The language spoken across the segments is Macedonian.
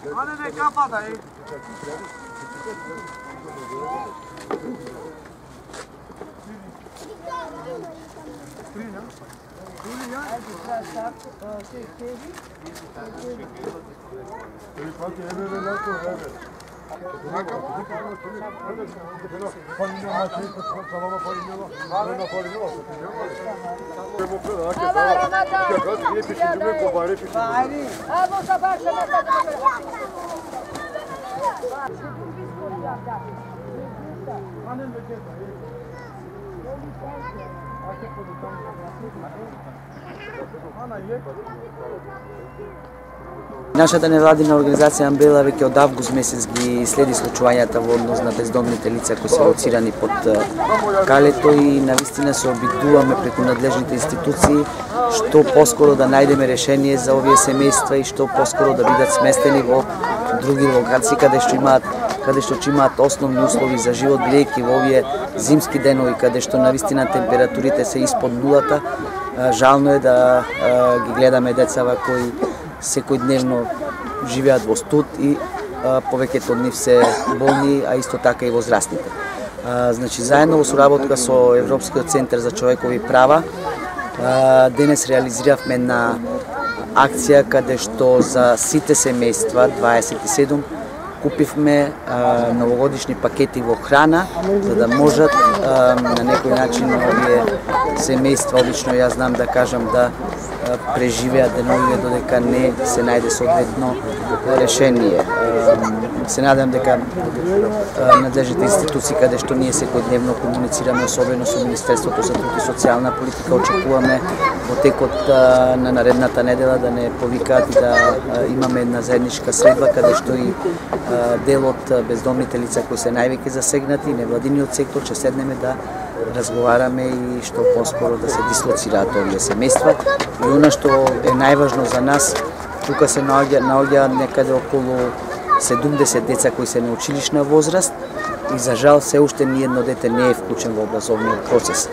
не капата, е. Нашата невладина организација Амбрела веќе од август месец ги следи случувањата во однос на бездомните лица кои се лоцирани под калето и навистина се обидуваме преку надлежните институции што поскоро да најдеме решение за овие семејства и што поскоро да бидат сместени во други локации каде што имаат основни услови за живот, бидејќи во овие зимски денови каде што навистина температурите се испод нулата, жално е да ги гледаме децава кои секојдневно живеат во студ и повеќето од нив се болни, а исто така и возрастните. Значи, заедно во соработка со Европскиот центар за човекови права, денес реализиравме една акција каде што за сите семејства, 27, купивме новогодишни пакети во храна, за да можат на некој начин овие семејства, обично јас знам да кажам, да преживеат деновиве додека не се најде соодветно решение. Се надам дека надлежните институции каде што ние секојдневно комуницираме, особено со Министерството за труд и социјална политика, очекуваме во текот на наредната недела да не повикаат и да имаме една заедничка средба каде што и дел од бездомните лица кои се највеќе засегнати, невладиниот сектор, ќе седнеме да разговараме и што поскоро да се дислоцираат овие семејства. И она што е најважно за нас, тука се наоѓаат некаде околу 70 деца кои се на училишна возраст и за жал се уште ниедно дете не е вклучен во образовниот процес.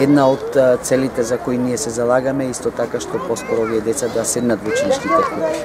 Една од целите за кои ние се залагаме исто така што поскоро овие деца да седнат во училишните клупи.